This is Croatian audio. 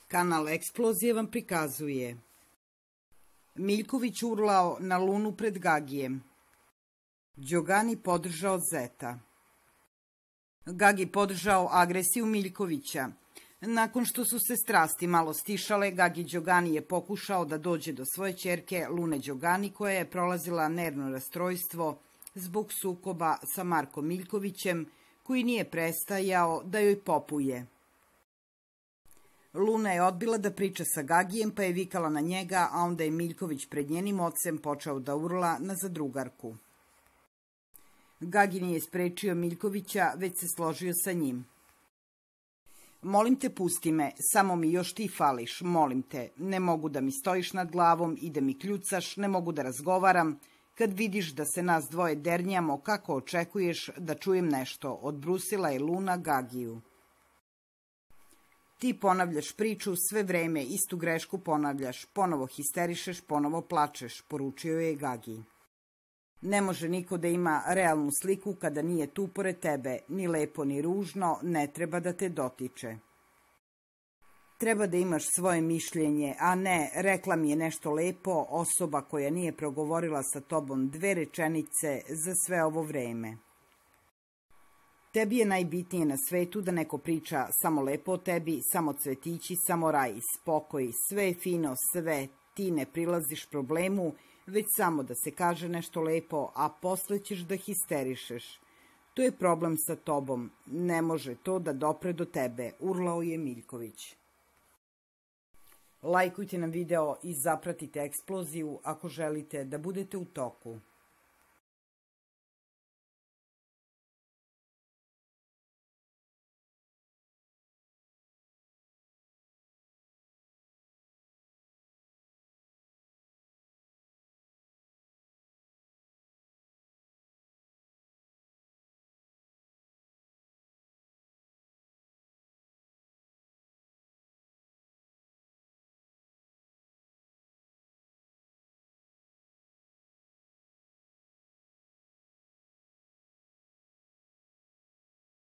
Kanal Eksplozije vam prikazuje Miljković urlao na Lunu pred Gagijem. Đogani podržao Zeta. Gagi podržao agresiju Miljkovića. Nakon što su se strasti malo stišale, Gagi Đogani je pokušao da dođe do svoje ćerke Lune Đogani, koja je prolazila nervno rastrojstvo zbog sukoba sa Markom Miljkovićem, koji nije prestajao da joj popuje. Luna je odbila da priča sa Gagijem, pa je vikala na njega, a onda je Miljković pred njenim ocem počeo da urla na zadrugarku. Gagi nije sprečio Miljkovića, već se složio sa njim. Molim te, pusti me, samo mi još ti fališ, molim te, ne mogu da mi stojiš nad glavom i da mi kljucaš, ne mogu da razgovaram. Kad vidiš da se nas dvoje dernjamo, kako očekuješ da čujem nešto, odbrusila je Luna Gagiju. Ti ponavljaš priču sve vreme, istu grešku ponavljaš, ponovo histerišeš, ponovo plačeš, poručio je Gagi. Ne može niko da ima realnu sliku kada nije tu pored tebe, ni lepo ni ružno, ne treba da te dotiče. Treba da imaš svoje mišljenje, a ne, rekla mi je nešto lepo, osoba koja nije progovorila sa tobom 2 rečenice za sve ovo vreme. Tebi je najbitnije na svetu da neko priča samo lepo o tebi, samo cvetići, samo raj, spokoj, sve je fino, sve, ti ne prilaziš problemu, već samo da se kaže nešto lepo, a posle ćeš da histerišeš. To je problem sa tobom, ne može to da dopre do tebe, urlao je Miljković. Lajkujte nam video i zapratite Eksploziju ako želite da budete u toku.